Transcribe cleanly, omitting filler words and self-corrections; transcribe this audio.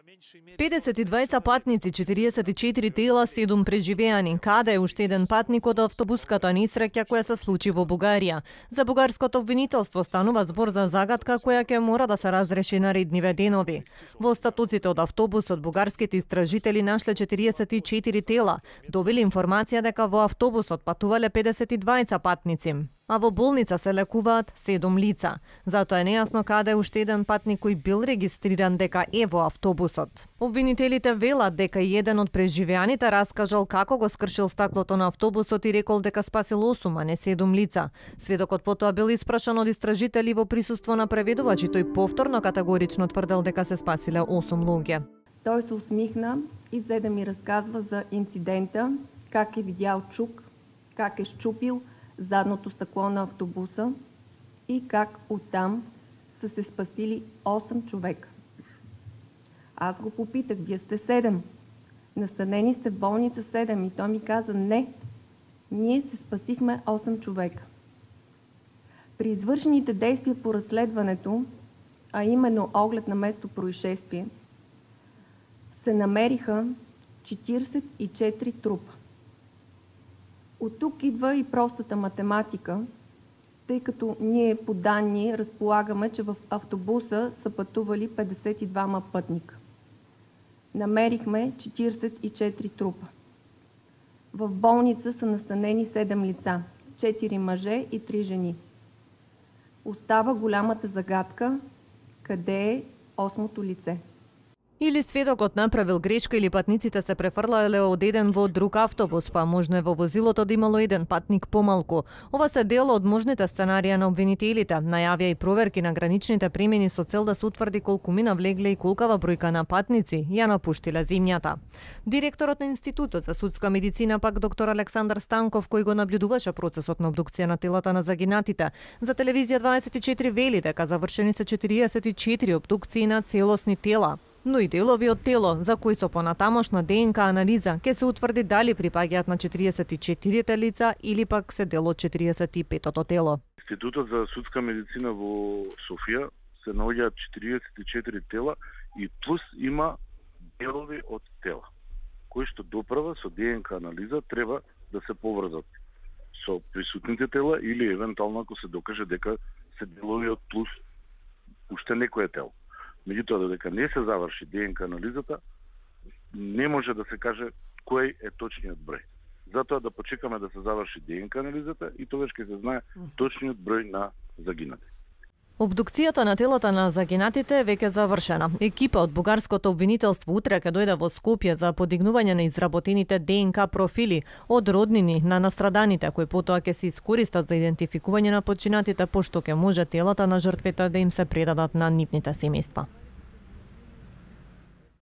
52 патници, 44 тела, 7 преживеани. Каде е уште еден патник од автобуската несреќа која се случи во Бугарија. За бугарското обвинителство станува збор за загадка која ќе мора да се разреши наредниве денови. Во остатоците од автобусот бугарските истражители нашле 44 тела. Добили информација дека во автобусот патувале 52 патници, а во болница се лекуваат 7 лица. Затоа е нејасно каде е уште еден патник кој бил регистриран дека е во автобусот. Обвинителите велат дека и еден од преживеаните раскажал како го скршил стаклото на автобусот и рекол дека спасил 8, а не 7 лица. Сведокот потоа бил испрашан од истражители во присуство на преведувач и тој повторно категорично тврдел дека се спасиле 8 луѓе. Той се усмихна и взе да ми разказва за инцидента, как е видял чук, как е щупил задното стъкло на автобуса и как оттам са се спасили 8 човека. Аз го попитах, вие сте 7, настанени сте в болница 7 и той ми каза не, ние се спасихме 8 човека. При извършените действия по разследването, а именно оглед на место происшествие, се намериха 44 трупа. От тук идва и простата математика, тъй като ние по данни разполагаме, че в автобуса са пътували 52 пътника. Намерихме 44 трупа. В болница са настанени 7 лица, 4 мъже и 3 жени. Остава голямата загадка, къде е 8-то лице. Или сведокот направил грешка или патниците се префрлале од еден во друг автобус, па можно е во возилото да имало еден патник помалку. Ова се дел од можните сценарија на обвинителите. Најавија и проверки на граничните премини со цел да се утврди колку мина влегле и колкава бројка на патници ја напуштиле земјата. Директорот на Институтот за судска медицина пак доктор Александар Станков, кој го наблюдуваше процесот на обдукција на телата на загинатите, за телевизија 24 вели дека завршени се 44 обдукции на целосни тела. Но и делови од тело, за кои со понатамошна ДНК анализа ќе се утврди дали припаѓаат на 44 лица или пак се дел од 45-тото тело. Институтот за судска медицина во Софија се наоѓаат 44 тела и плюс има делови од тела, кои што доправа со ДНК анализа треба да се поврзат со присутните тела или евентуално ако се докаже дека се делови од плюс уште некое тело. Меѓутоа, додека не се заврши ДНК анализата, не може да се каже кој е точниот број. Затоа да почекаме да се заврши ДНК анализата и тогаш ќе се знае точниот број на загинати. Обдукцијата на телата на загинатите е веќе завршена. Екипа од бугарското обвинителство утре ќе дојде во Скопје за подигнување на изработените ДНК профили од роднини на настраданите, кои потоа ќе се искористат за идентификување на починатите, пошто ќе може телата на жртвите да им се предадат на нивните семејства.